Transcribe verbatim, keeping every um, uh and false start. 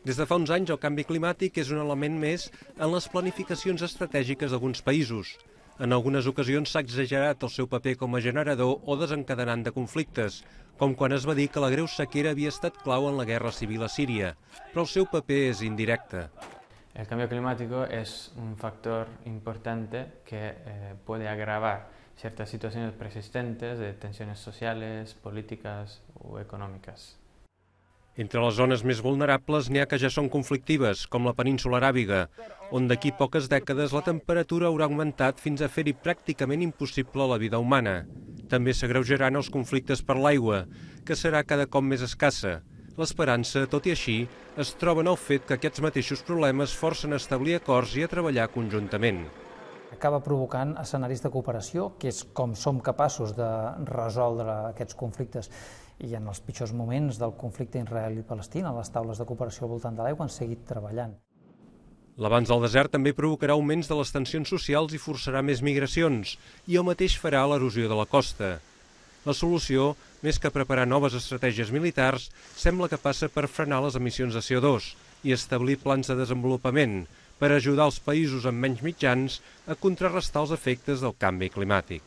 Des de fa uns anys, el canvi climàtic és un element més en les planificacions estratègiques d'alguns països. En algunes ocasions s'ha exagerat el seu paper com a generador o desencadenant de conflictes, com quan es va dir que la greu sequera havia estat clau en la guerra civil a Síria, però el seu paper és indirecte. El cambio climático es un factor importante que eh, puede agravar ciertas situaciones persistentes de tensiones sociales, políticas o económicas. Entre les zones més vulnerables n'hi ha que ja són conflictives, com la península aràbiga, on d'aquí poques dècades la temperatura haurà augmentat fins a fer-hi pràcticament impossible la vida humana. També s'agreujaran els conflictes per l'aigua, que serà cada cop més escassa. L'esperança, tot i així, es troba en el fet que aquests mateixos problemes forcen a establir acords i a treballar conjuntament. Acaba provocant escenaris de cooperació, que és com som capaços de resoldre aquests conflictes. I en els pitjors moments del conflicte israeli-palestina, les taules de cooperació al voltant de l'aigua han seguit treballant. L'avanç del desert també provocarà augments de les tensions socials i forçarà més migracions, i el mateix farà l'erosió de la costa. La solució, més que preparar noves estratègies militars, sembla que passa per frenar les emissions de C O dos i establir plans de desenvolupament per ajudar els països amb menys mitjans a contrarrestar els efectes del canvi climàtic.